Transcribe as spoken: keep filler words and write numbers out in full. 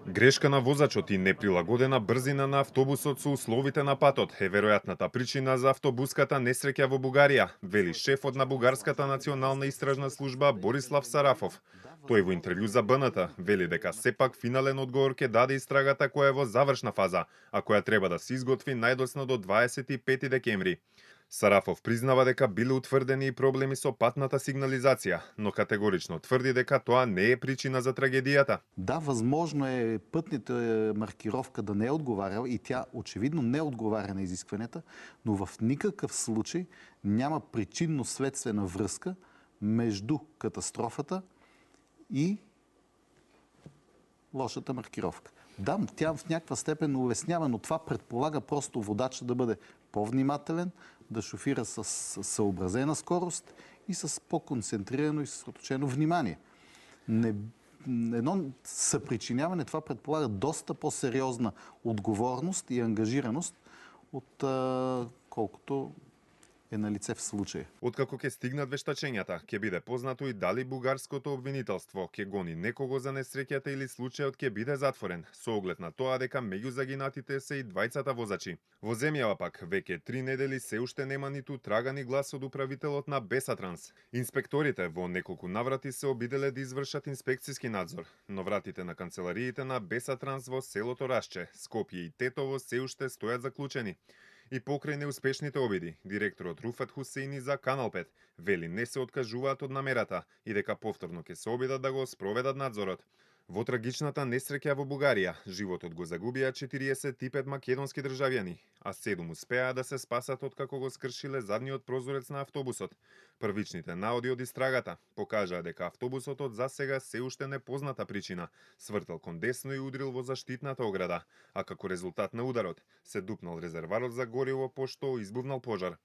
Грешка на возачот и неприлагодена брзина на автобусот со условите на патот е веројатната причина за автобуската несреќа во Бугарија, вели шефот на Бугарската национална истражна служба Борислав Сарафов. Тој во интервју за Б Н Т вели дека сепак финален одговор ќе даде истрагата која е во завршна фаза, а која треба да се изготви најдосно до дваесет и пети декември. Сарафов признава дека биле утврдени и проблеми со патната сигнализација, но категорично тврди дека тоа не е причина за трагедијата. Да, възможно е пътната маркировка да не е отговаряла и тя очевидно не отговаря на изискванията, но в никакъв случай няма причинно-следствена връзка между катастрофата и лошата маркировка. Да, тя в някаква степен улеснява, но това предполага просто водача да бъде по-внимателен, да шофира с съобразена скорост и с по-концентрирано и съсредоточено внимание. Не, едно съпричиняване, това предполага доста по-сериозна отговорност и ангажираност от а, колкото е на лице в случај. Откако ќе стигнат вештачењата, ќе биде познато и дали бугарското обвинителство ќе гони некого за несреќата или случајот ќе биде затворен, со оглед на тоа дека меѓу загинатите се и двајцата возачи. Во земјава пак веќе три недели се уште нема ниту трагани глас од управителот на Бесатранс. Инспекторите во неколку наврати се обиделе да извршат инспекциски надзор, но вратите на канцелариите на Бесатранс во селото Рашче, Скопје и Тетово се уште стојат заклучени. И покрај неуспешните обиди, директорот Руфет Хусеини за Канал пет вели не се откажуваат од намерата и дека повторно ќе се обидат да го спроведат надзорот. Во трагичната несреќа во Бугарија, животот го загубија четириесет и пет македонски државјани, а седум успеа да се спасат откако го скршиле задниот прозорец на автобусот. Првичните наоди од истрагата покажаа дека автобусот од засега се уште непозната причина свртел кон десно и удрил во заштитната ограда, а како резултат на ударот се дупнал резерварот за гориво пошто избувнал пожар.